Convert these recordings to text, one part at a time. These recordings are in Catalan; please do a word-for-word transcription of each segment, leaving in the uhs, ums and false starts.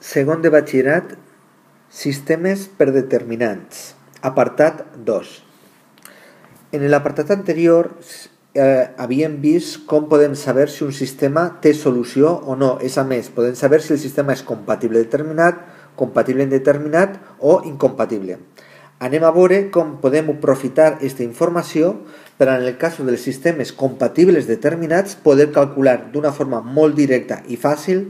Segon de batxillerat, sistemes per determinants, apartat dos. En l'apartat anterior eh, havíem vist com podem saber si un sistema té solució o no. És a més, podem saber si el sistema és compatible determinat, compatible indeterminat o incompatible. Anem a veure com podem aprofitar aquesta informació per, en el cas dels sistemes compatibles determinats, poder calcular d'una forma molt directa i fàcil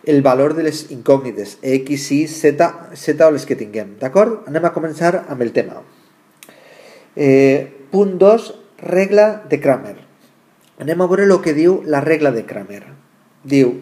el valor de les incògnites, x, y, z, z o les que tinguem. D'acord? Anem a començar amb el tema. Eh, punt dos, regla de Cramer. Anem a veure el que diu la regla de Cramer. Diu,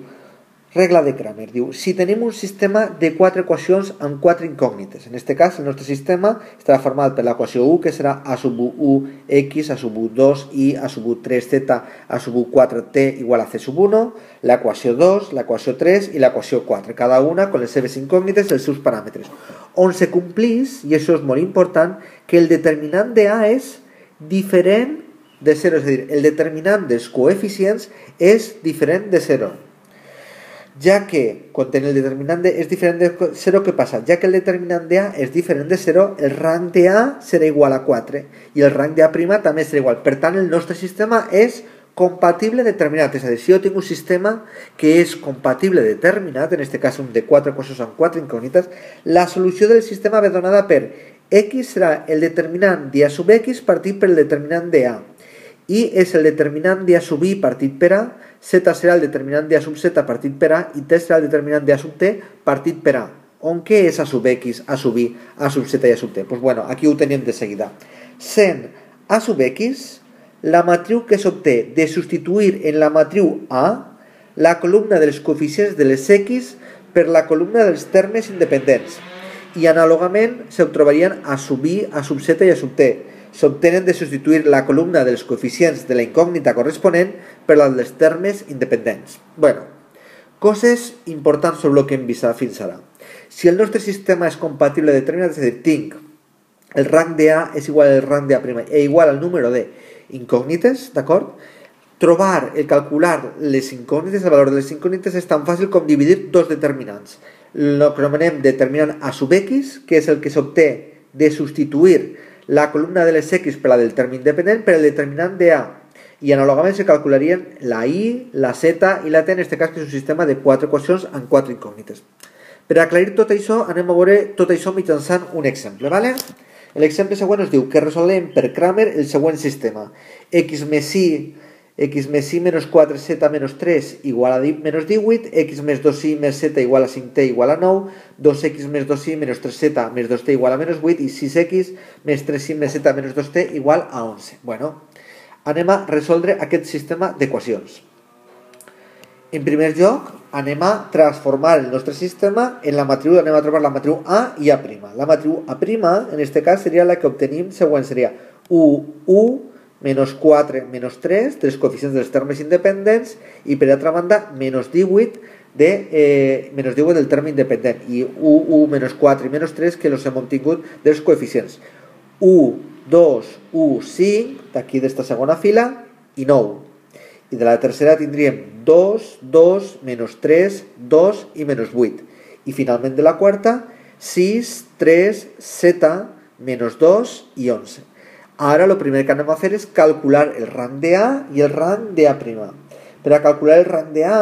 regla de Cramer, diu, si tenim un sistema de quatre equacions amb quatre incògnites, en aquest cas el nostre sistema estarà format per l'equació u, que serà a sub u x, a sub u dos y, a sub u tres z, a sub u quatre t igual a c sub uno, l'equació dos, l'equació tres i l'equació quatre, cada una amb les seves incògnites i els seus paràmetres, on se complís, i això és molt important, que el determinant de A és diferent de zero, és a dir, el determinant dels coeficients és diferent de zero. Ja que, quan el determinant de és diferent de zero, què passa? Ja que el determinant de A és diferent de zero, el rang de A serà igual a quatre i el rang de A' també serà igual. Per tant, el nostre sistema és compatible determinat. És a dir, si jo tinc un sistema que és compatible determinat, en aquest cas un de quatre equacions amb quatre incògnites, la solució del sistema ve donada per x serà el determinant de A sub x partit per el determinant de A. I és el determinant de A sub i partit per A, z serà el determinant de A sub z partit per A i t serà el determinant de A sub t partit per A. On què és A sub x, A sub i, A sub z i A sub t? Doncs bueno, aquí ho tenim de seguida. Sent A sub x, la matriu que s'obté de substituir en la matriu A la columna dels coeficients de les x per la columna dels termes independents. I anàlogament s'obtrobarien A sub i, A sub z i A sub t. S'obtenen de substituir la columna dels coeficients de la incògnita corresponent per la dels termes independents. Bueno, coses importants sobre el que hem vist fins ara. Si el nostre sistema és compatible determinat, és a dir, tinc el rang de A és igual al rang de A' e igual al número de incògnites, d'acord? Trobar, el calcular les incògnites, el valor de les incògnites és tan fàcil com dividir dos determinants. El que anomenem determinant A sub x, que és el que s'obté de substituir la columna de les x per la del terme independent per el determinant de A. I anàlogament se calcularien la i, la z i la t, en aquest cas que és un sistema de quatre equacions amb quatre incògnites. Per aclarir tot això, anem a veure tot això mitjançant un exemple. ¿vale? L'exemple següent ens diu que resolem per Cramer el següent sistema. X més i, x més i menys quatre z menys tres igual a menys divuit, x més dos i més z igual a cinc t igual a nou, dos x més dos i menys tres z més dos t igual a menys vuit i sis x més tres i més z menys dos t igual a onze. Bueno, anem a resoldre aquest sistema d'equacions. En primer lloc, anem a transformar el nostre sistema en la matriu, anem a trobar la matriu A i A'. La matriu A', en aquest cas, seria la que obtenim següent, seria u, u, menys quatre, menys tres, dels coeficients dels termes independents, i per altra banda, menys divuit, de, eh, menys divuit del terme independent, i u, u, menys quatre i menys tres, que els hem obtingut dels coeficients. u, dos, u, cinc, d'aquí d'esta segona fila, i nou. I de la tercera tindríem dos, dos, menys tres, dos i menys vuit. I finalment de la quarta, sis, tres, z, menys dos i onze. Ara el primer que anem a fer és calcular el rang de A i el rang de A'. Per a calcular el rang de A,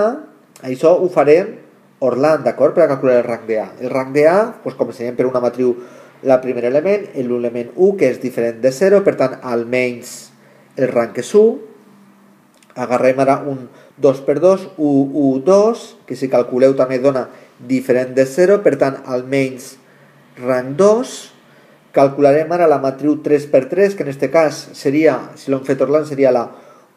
això ho farem orlant, d'acord? Per a calcular el rang de A. El rang de A, doncs començarem per una matriu, el primer element, l'element u, que és diferent de zero, per tant, almenys el rang és u. Agarrem ara un dos per dos, u, u, dos, que si calculeu també dona diferent de zero, per tant, almenys rang dos. Calcularem ara la matriu tres per tres, que en aquest cas seria, si l'hem fet orlant, seria la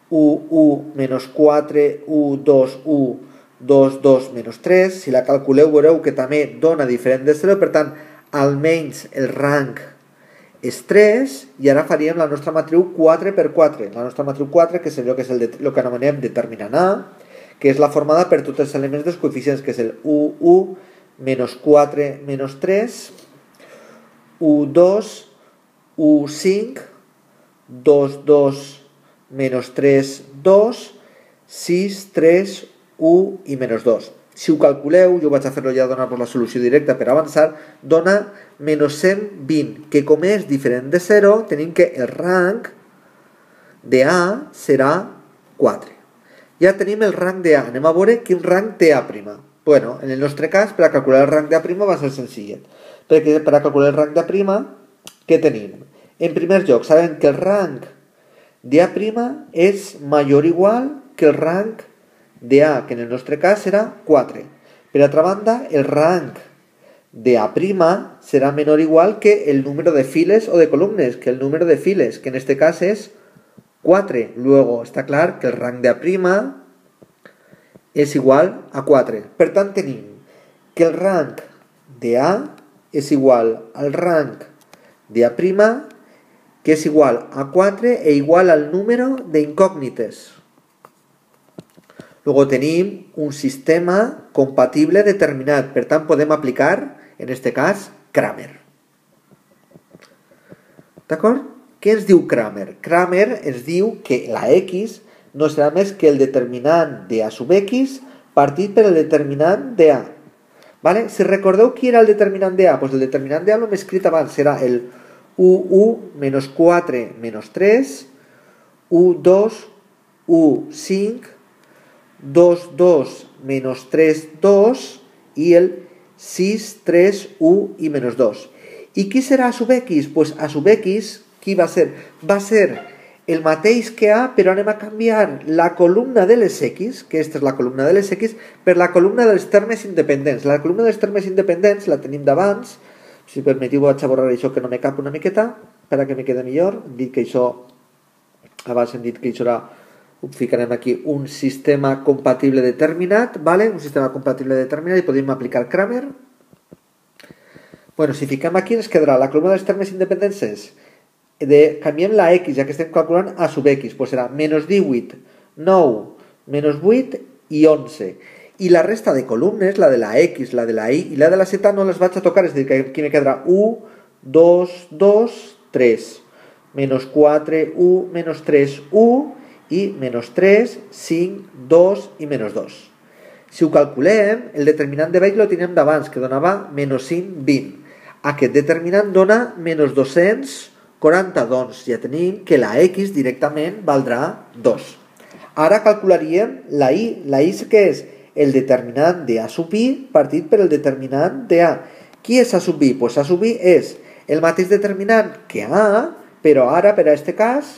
u, u, menys quatre, u, dos, u, dos, dos, menys tres. Si la calculeu veureu que també dona diferent de zero, per tant, almenys el rang és tres, i ara faríem la nostra matriu quatre per quatre. La nostra matriu quatre, que és allò que és el, de, el que anomenem determinant A, que és la formada per tots els elements dels coeficients, que és el u, u, menys quatre, menys tres, u, dos, u, cinc, dos, dos, menys tres, dos, sis, tres, u i menys dos. si ho calculeu, jo vaig a fer-lo ja donar-vos la solució directa per avançar, dona menys cent vint, que com és diferent de zero, tenim que el rang de A serà quatre. Ja tenim el rang de A. Anem a veure quin rang té A'. Bueno, en el nostre cas, per a calcular el rang de A' va ser senzillet. Perquè per a calcular el rang de A', què tenim? En primer lloc, sabem que el rang de A' és major o igual que el rang de A, que en el nostre cas serà quatre. Per altra banda, el rang de A' serà menor o igual que el número de files o de columnes, que el número de files, que en este cas és quatre. Luego, està clar que el rang de A' és igual a quatre. Per tant, tenim que el rang de A és igual al rang de A', que és igual a quatre e igual al número d'incògnites. Luego tenim un sistema compatible determinat. Per tant, podem aplicar, en este cas, Cramer. D'acord? Què ens diu Cramer? Cramer ens diu que la X no serà més que el determinant de A sub X partit per el determinant de A. Vale? Si recordeu qui era el determinant de A, doncs el determinant de A l'hem escrit abans, serà el u u menys quatre menys tres, u dos, u cinc, dos dos menys tres dos i el sis tres u i menys dos. I qui serà A sub X? Doncs A sub X, qui va ser? Va ser el mateix que A, però anem a canviar la columna de les X, que aquesta és la columna de les X, per la columna dels termes independents. La columna dels termes independents la tenim d'abans. Si permetiu vaig a borrar això que no me cap una miqueta, per a que me quede millor. Hem dit que això, abans hem dit que això era, ho ficarem aquí, un sistema compatible determinat, vale? Un sistema compatible determinat i podem aplicar Cramer. Bueno, si fiquem aquí ens quedarà la columna dels termes independents és de, canviem la X, ja que estem calculant A sub X, doncs serà menys divuit, nou, menys vuit i onze. I la resta de columnes, la de la X, la de la Y i la de la Z, no les vaig a tocar, és a dir, que aquí me quedarà u, dos, dos, tres, menys quatre, u, menys tres, u, i menys tres, cinc, dos i menys dos. Si ho calculem, el determinant de baix lo teníem d'abans, que donava menys cinc, vint. Aquest determinant dona menys dos-cents quaranta, doncs ja tenim que la X directament valdrà dos. Ara calcularíem la Y. La Y què és? El determinant de A sub I partit per el determinant de A. Qui és A sub I? Pues A sub I és el mateix determinant que A, però ara, per a aquest cas,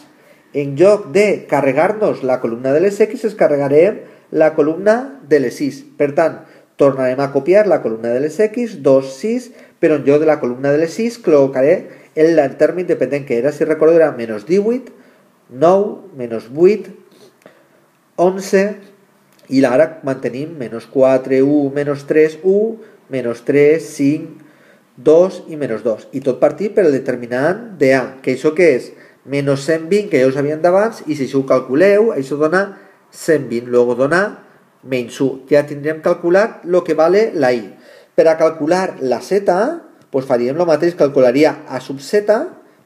en lloc de carregar-nos la columna de les X, es carregarem la columna de les Y. Per tant, tornarem a copiar la columna de les X, dos, sis, però en lloc de la columna de les Y, col·locaré el terme independent que era, si recordo, era menys divuit, nou, menys vuit, onze, i ara mantenim menys quatre, u, menys tres, u, menys tres, cinc, dos i menys dos. I tot partit per el determinant de A, que això què és? Menys cent vint, que ja ho sabíem d'abans, i si això ho calculeu, això dona cent vint, luego dona menys u. Ja tindrem calculat el que vale la Y. Per a calcular la Z, pues faríem el mateix, calcularia A sub Z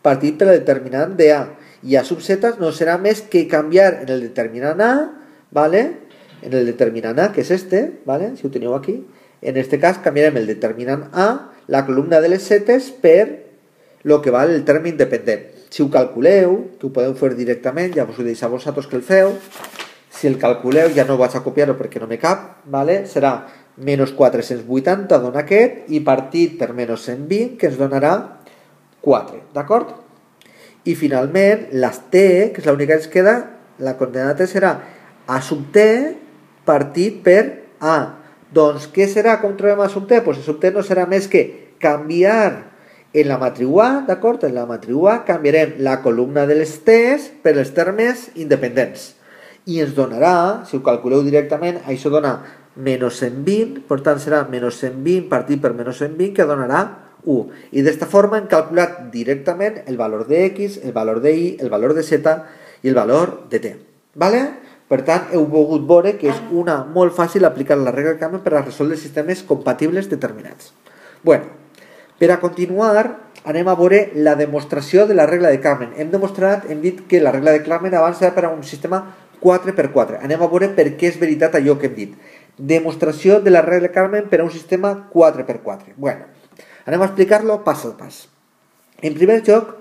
partit per el determinant de A. I A sub Z no serà més que canviar en el determinant A, ¿vale? En el determinant A, que és este, ¿vale? Si ho teniu aquí. En este cas canviarem el determinant A, la columna de les Z's, per el que val el terme independent. Si ho calculeu, que ho podeu fer directament, ja us ho deixo a vosaltres que el feu, si el calculeu, ja no vaig a copiar-ho perquè no me cap, ¿vale? Serà menys quatre-cents vuitanta dona aquest, i partit per menys cent vint, que ens donarà quatre, d'acord? I finalment, les T, que és l'única que ens queda, la coordenada T serà A sub T partit per A. Doncs què serà com trobem A sub T? Doncs A sub T no serà més que canviar en la matriu A, d'acord? En la matriu A canviarem la columna de les T's per els termes independents. I ens donarà, si ho calculeu directament, això dona menys cent vint, per tant serà menys cent vint partit per menys cent vint, que donarà u. I d'esta forma hem calculat directament el valor de X, el valor de Y, el valor de Z i el valor de T. Vale? Per tant, heu pogut veure que és una molt fàcil aplicar la regla de Cramer per a resoldre sistemes compatibles determinats. Bueno, per a continuar, anem a veure la demostració de la regla de Cramer. Hem demostrat, hem dit que la regla de Cramer abans era per a un sistema quatre per quatre. Anem a veure per què és veritat allò que hem dit. Demostració de la regla Carmen per a un sistema quatre per quatre. Bueno, anem a explicar-lo pas a pas. En primer lloc,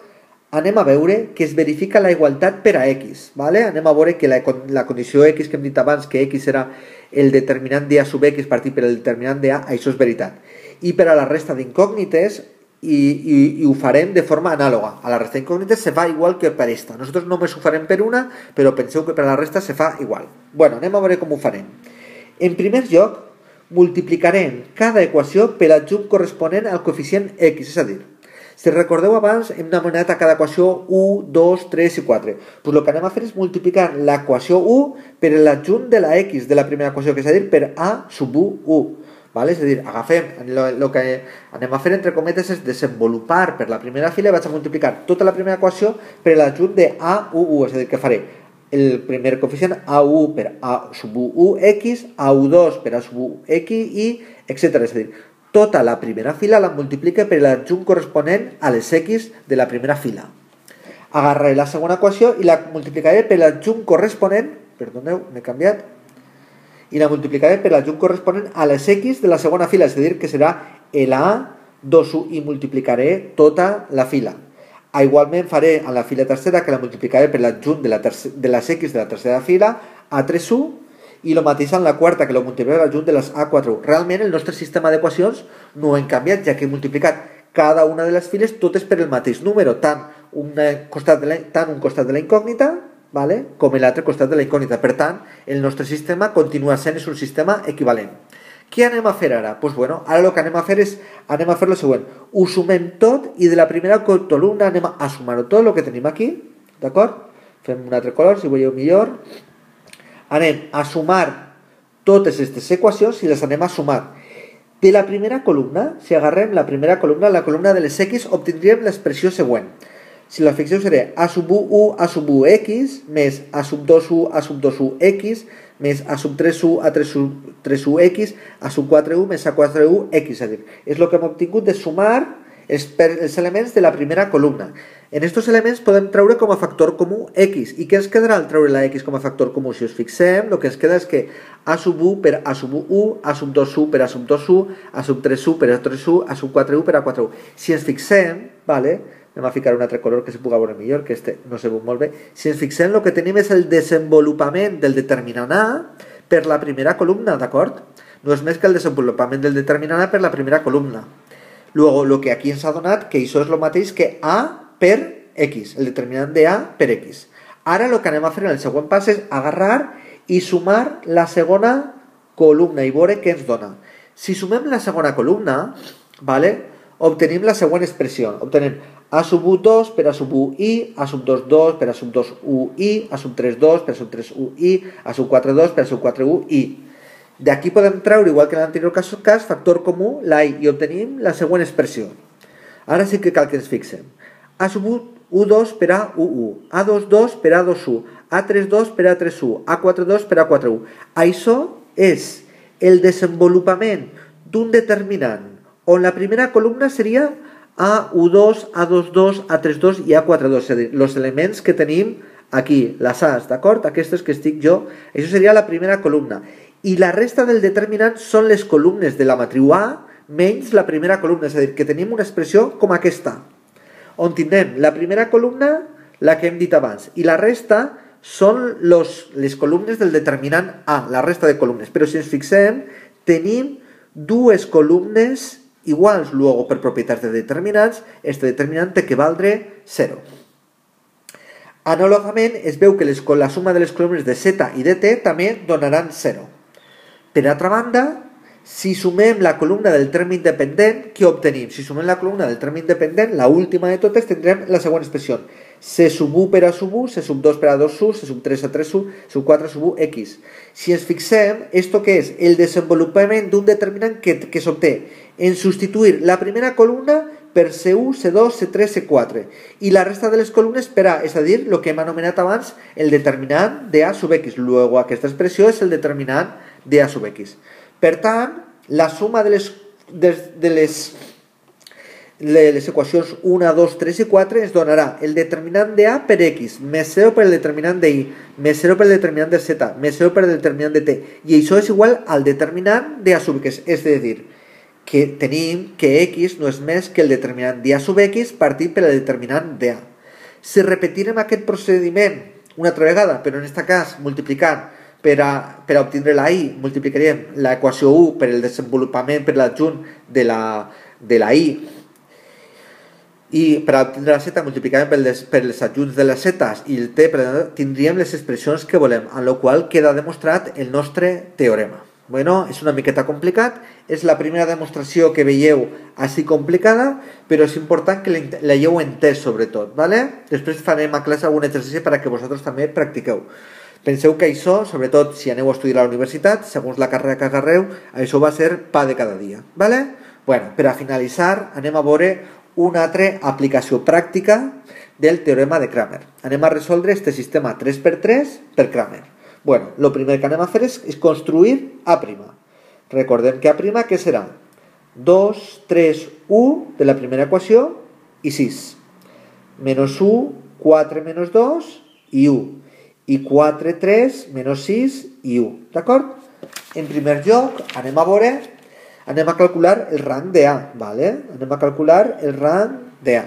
anem a veure que es verifica la igualtat per a X. ¿vale? Anem a veure que la, la condició X que hem dit abans, que X serà el determinant de A sub X partit per el determinant de A, això és veritat. I per a la resta d'incògnites, i, i, i ho farem de forma anàloga. A la resta d'incògnites se fa igual que per esta. Nosaltres només ho farem per una, però penseu que per a la resta se fa igual. Bueno, anem a veure com ho farem. En primer lloc, multiplicarem cada equació per l'adjunt corresponent al coeficient X, és a dir, si recordeu abans hem anomenat a cada equació u, dos, tres i quatre. Pues el que anem a fer és multiplicar l'equació u per l'adjunt de la X de la primera equació, que és a dir, per A sub u, u. Vale? És a dir, agafem, el que anem a fer entre cometes és desenvolupar per la primera fila i vaig a multiplicar tota la primera equació per l'adjunt de A u, u. És a dir, que faré el primer coeficient A u per A sub u, u, X, A u dos per A sub u, X i etcètera. És a dir, tota la primera fila la multiplique per l'adjunt corresponent a les X de la primera fila. Agarraré la segona equació i la multiplicaré per l'adjunt corresponent, perdoneu, m'he canviat, i la multiplicaré per l'adjunt corresponent a les X de la segona fila, és a dir, que serà el A dos u i multiplicaré tota la fila. Ah, igualment faré a la fila tercera que la multiplicaré per l'adjunt de, la de les X de la tercera fila, A tres u, i el mateix en la quarta, que lo multiplicaré per l'adjunt de les A quatre u. Realment el nostre sistema d'equacions no ho hem canviat, ja que he multiplicat cada una de les files totes per el mateix número, tant un costat de la, tant un costat de la incògnita, vale, com l'altre costat de la incògnita. Per tant, el nostre sistema continua sent un sistema equivalent. Què anem a fer ara? Pues bueno, ara el que anem a fer és anem a fer el següent. Ho sumem tot i de la primera columna anem a sumar-ho tot, el que tenim aquí, d'acord? Fem un altre color, si veieu millor. Anem a sumar totes aquestes equacions i les anem a sumar. De la primera columna, si agarrem la primera columna, la columna de les X, obtindríem l'expressió següent. Si la fixeu serà A sub u, u, A sub u, X, més A sub dos u, A sub dos u, X, més A sub tres u, A tres u, X, A sub quatre u, més A quatre u, X. És a dir, és el que hem obtingut de sumar els, els elements de la primera columna. En aquests elements podem treure com a factor comú X. I què ens quedarà al treure la X com a factor comú? Si us fixem, el que ens queda és que A sub u per A sub u, A sub dos u per A sub dos u, A sub tres u per A tres u, A sub quatre u per A quatre u. Si ens fixem, vale, anem a ficar un altre color que se pugui veure millor, que este no se veu molt bé. Si ens fixem, el que tenim és el desenvolupament del determinant A per la primera columna, d'acord? No és més que el desenvolupament del determinant A per la primera columna. Luego, lo que aquí ens ha donat, que això és el mateix que A per X, el determinant de A per X. Ara el que anem a fer en el següent pas és agarrar i sumar la segona columna i veure què ens dona. Si sumem la segona columna, vale, obtenim la següent expressió. Obtenem A sub u dos per A sub u i, A sub dos dos per A sub dos u i, A sub tres dos per A sub tres u i, A sub quatre dos per A sub quatre u i. D'aquí podem treure, igual que en l'anterior cas, factor comú, la i, i obtenim la següent expressió. Ara sí que cal que ens fixem. A sub u dos per A u u, A dos dos per A dos u, A tres dos per A tres u, A quatre dos per A quatre u. Això és el desenvolupament d'un determinant on la primera columna seria A u dos, A dos dos, A tres dos i A quatre dos, és a dir, els elements que tenim aquí, les A's, d'acord? Aquestes que estic jo, això seria la primera columna. I la resta del determinant són les columnes de la matriu A menys la primera columna, és a dir, que tenim una expressió com aquesta, on tindrem la primera columna, la que hem dit abans, i la resta són los, les columnes del determinant A, la resta de columnes. Però si ens fixem, tenim dues columnes iguals. Luego, per propietats de determinants, este determinant té que valdre zero. Anàlogament, es veu que les, la suma de les columnes de Z i de T també donaran zero. Per altra banda, si sumem la columna del terme independent, què obtenim? Si sumem la columna del terme independent, la última de totes, tindrem la següent expressió. C sub u per A sub u, C sub dos per A dos u, C sub tres a tres u, C sub quatre sub u, X. Si ens fixem, esto que és el desenvolupament d'un determinant que, que s'obté en substituir la primera columna per C u, C dos, C tres, C quatre i la resta de les columnes per A, és a dir, el que hem anomenat abans el determinant de A sub X. Luego, aquesta expressió és el determinant de A sub X. Per tant, la suma de les, de, de les les equacions un, dos, tres i quatre ens donarà el determinant de A per X, més zero per el determinant de Y, més zero per el determinant de Z, més zero per el determinant de T, i això és igual al determinant de A sub X, és a dir, que tenim que X no és més que el determinant de A sub X partit per el determinant de A. Si repetirem aquest procediment una altra vegada, però en aquest cas multiplicant per a, per a obtindre la Y, multiplicaríem l'equació u per el desenvolupament per l'adjunt de la, de la Y, i per a obtindre la Z multiplicàvem per les, per les adjunts de les Z's i el T, tindríem les expressions que volem, amb la qual queda demostrat el nostre teorema. Bueno, és una miqueta complicat, és la primera demostració que veieu així complicada, però és important que la l'heu entès sobretot, ¿vale? Després farem a classe algun exercici perquè vosaltres també practiqueu. Penseu que això, sobretot si aneu a estudiar a la universitat, segons la carrera que agarreu, això va ser pa de cada dia, ¿vale? Bueno, per a finalitzar, anem a veure una altra aplicació pràctica del teorema de Cramer. Anem a resoldre este sistema tres per tres per Cramer. Bueno, el primer que anem a fer és, és construir A'. Recordem que A', què serà? dos, tres, u de la primera equació i sis. Menys u, quatre menys dos i u. I quatre, tres, menys sis i u. D'acord? En primer lloc, anem a veure anem a calcular el rang de A, ¿vale? Anem a calcular el rang de A.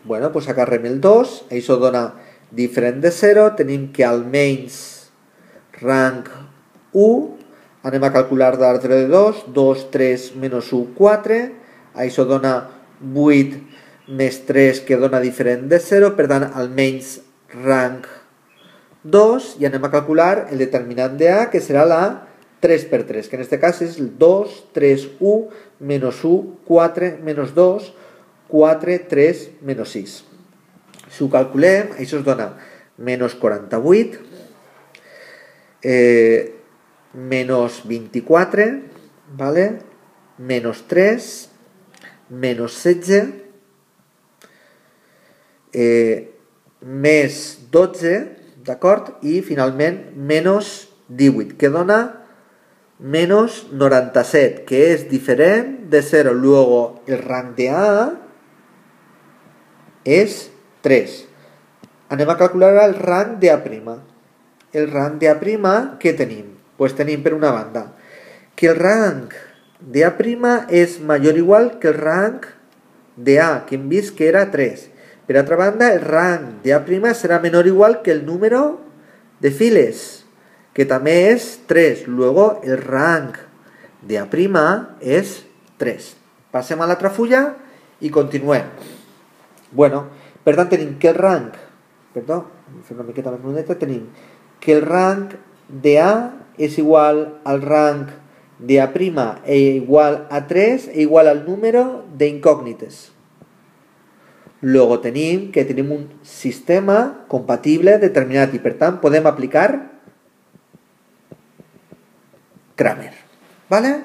Bueno, pues agarrem el dos, això dona diferent de zero, tenim que almenys rang u, anem a calcular l'ordre de dos, dos, tres, menys u, quatre, això dona vuit més tres, que dona diferent de zero, per tant, almenys rang dos, i anem a calcular el determinant de A, que serà la tres per tres, que en aquest cas és el dos, tres, u, menys u, quatre, menys dos, quatre, tres, menys sis. Si ho calculem, això es dona menys quaranta-vuit, eh, menys vint-i-quatre, vale? Menys tres, menys setze, eh, més dotze, d'acord? I finalment menys divuit, que dona menos noranta-set, que es diferente de cero. Luego el rang de A es tres. Anem a calcular el rang de A'. El rang de A', què tenim? Pues tenim per una banda que el rang de A' és major o igual que el rang de A, que hem vist que era tres. Per altra banda, el rang de A' serà menor o igual que el número de files, que també és tres. Luego el rang de A' és tres. Passem a l'altra fulla i continuem. Bueno, per tant tenim que el rang, perdó, fer una miqueta més luneta, tenim que el rang de A és igual al rang de A' e igual a tres e igual al número de incògnites. Luego tenim que tenim un sistema compatible determinat i per tant podem aplicar Cramer, ¿vale?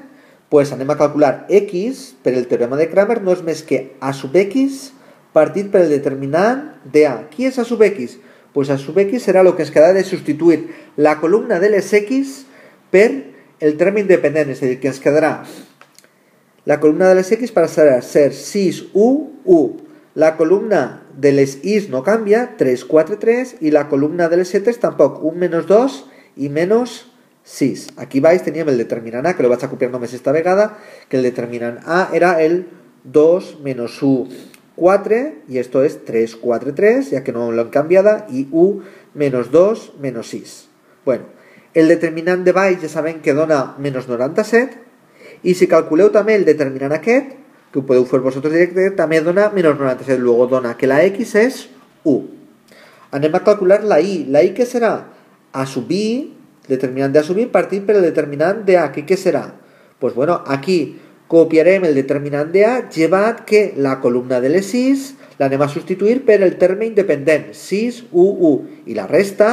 Pues anem a calcular X per el teorema de Cramer no és més que A sub X partit per el determinant de A. Qui és A sub X? Pues A sub X serà el que ens quedarà de substituir la columna de les X per el terme independent, és a dir, que ens quedarà la columna de les X passarà a ser sis, u, u. La columna de les Y no canvia, tres, quatre, tres, i la columna de les Z tampoc, un menys dos i menys sis. Aquí baix teníem el determinant A, que lo vaig a copiar només esta vegada, que el determinant A era el dos menys u, quatre, i esto es tres, quatre, tres, ya que no lo han cambiado, y u menos dos menos sis. Bueno, el determinant de baix ja sabem que dona menys noranta-set, i si calculeu també el determinant aquest, que ho podeu fer vosaltres directe, també dona menys noranta-set, luego dona que la X és u. Anem a calcular la Y. La Y què serà? A sub I, determinant de A sub I partit per el determinant de A, que què serà? Pues bueno, aquí copiarem el determinant de A, llevat que la columna de les sis l'anem a substituir per el terme independent, sis, u, u, i la resta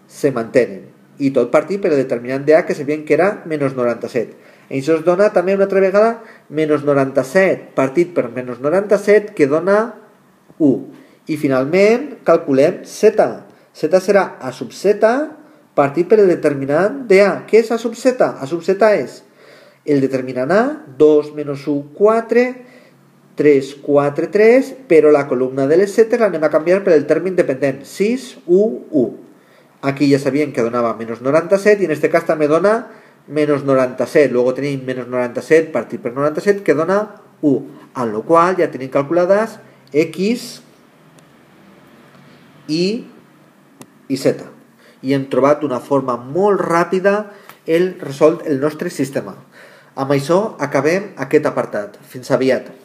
se mantenen. I tot partit per el determinant de A, que sabíem que era menys noranta-set. Això es dona també una altra vegada menys noranta-set partit per menys noranta-set, que dona u. I finalment calculem Z. Z serà A sub Z partit per el determinant de A. Què és A sub Z? A sub Z és el determinant A, dos menys u, quatre, tres, quatre, tres, però la columna de les zetes l'anem a canviar per el terme independent, sis, u, u. Aquí ja sabíem que donava menys noranta-set i en aquest cas també dona menys noranta-set. Luego tenim menys noranta-set partit per noranta-set que dona u, amb la qual ja tenim calculades x, y i z. I hem trobat d'una forma molt ràpida el resolt el nostre sistema. Amb això acabem aquest apartat. Fins aviat.